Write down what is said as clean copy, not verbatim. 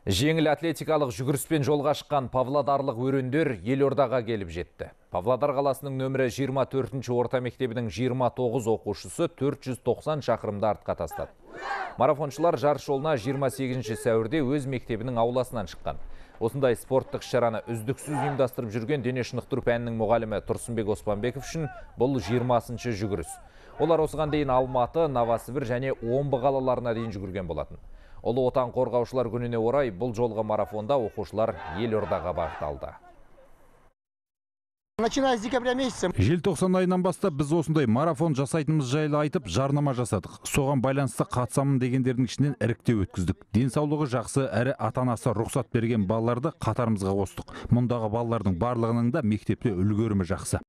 Жеңіл атлетикалық жүгіріспен жолға шыққан павлодарлық өрендер Елордаға келіп жетті. Павлодар қаласының нөмірі 24-ші орта мектебінің 29 оқушысы 490 шақырымды артқа тастады. Марафоншылар жарыс жолына 28 сәуірде өз мектебінің ауласынан шыққан. Осындай спорттық шараны үздіксіз ұйымдастырып жүрген дене шынықтыру пәнінің мұғалімі Тұрсынбек Оспанбеков үшін бұл 20-шы жүгіріс. Олар осыған дейін Алматы, Новосібір және Омбы қалаларына дейін жүгірген болатын. Ұлы отан қорғаушылар күніне орай бұл жолғы марафонда оқушылар Елордаға бағытталды. Начиная с декабря месяца. Желтоқсан айынан бастап біз осындай марафон жасайтынымыз жайлы айтып, жарнама жасадық. Соған байланысты қатысамын дегендердің ішінен іріктеу өткіздік. Денсаулығы жақсы, әрі ата-анасы рұқсат берген балаларды қатарымызға қостық. Мұндағы балалардың барлығының да мектепте үлгерімі жақсы.